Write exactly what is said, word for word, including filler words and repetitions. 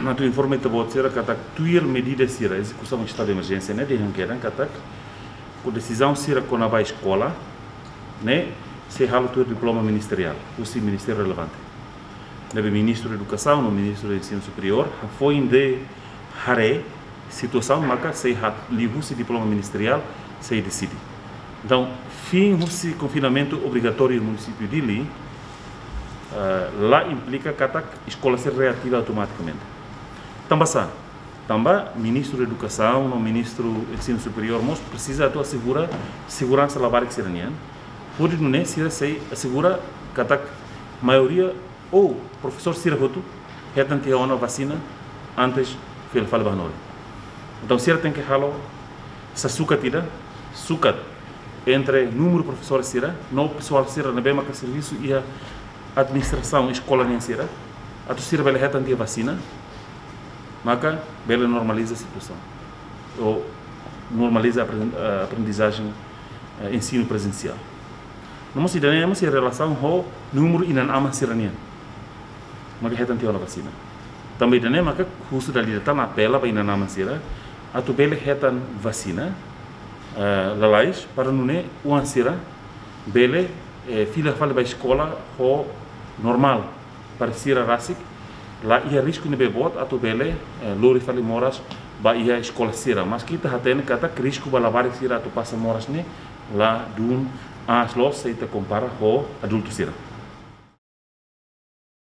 Atu informa ita-boot sira katak tuir medida sira ezekusaun estadu de emerjénsia ne'e dehan kedan katak ho desizaun sira kona-ba eskola ne'e sei halo tuir diploma ministeriál husi ministériu relevante. Ne'ebé ministru edukasaun no ministru ensinu superiór hafoin de haree situasaun maka sei ha- liuhusi diploma ministeriál sei deside. Entaun, fin husi konfinamentu obrigatóriu munisípiu Dili, eh, la implika katak eskola sei reativa automatikamente. Tanba sá? Tanba ministru edukasaun no ministru ensinu superiór mós presiza atu asegura seguransa labarik sira-nian. Hodi nune'e sira sei asegura katak maioria ou profesór sira hotu hetan tiha ona vasina antes fila fali ba hanorin. Entaun sira tenke halo sasukat ida, sukat entre númeru profesór sira no pesoál sira ne'ebé maka servisu iha administrasaun eskola nian sira, atu sira bele hetan tiha vasina, maka bele normaliza situasaun ou normaliza apren- eh, aprendizajen, eh, ensinu prezensiál. No mós ida-ne'e mós iha relasaun ho númeru inan-aman sira-nian maka hetan tiha ona vasina. Tanba ida-ne'e maka husu dala ida tan apela ba inan-aman sira atu bele hetan vasina, eh, lalais para nune'e oan sira bele, eh, fila fali ba eskola ho normál, para sira rasik la iha risku ne'ebé boot atu bele, eh, lori fali moras ba iha eskola sira. Maski ita hatene katak risku ba labarik sira atu pasa moras ne'e ladún aas loos se ita kompara ho adultu sira.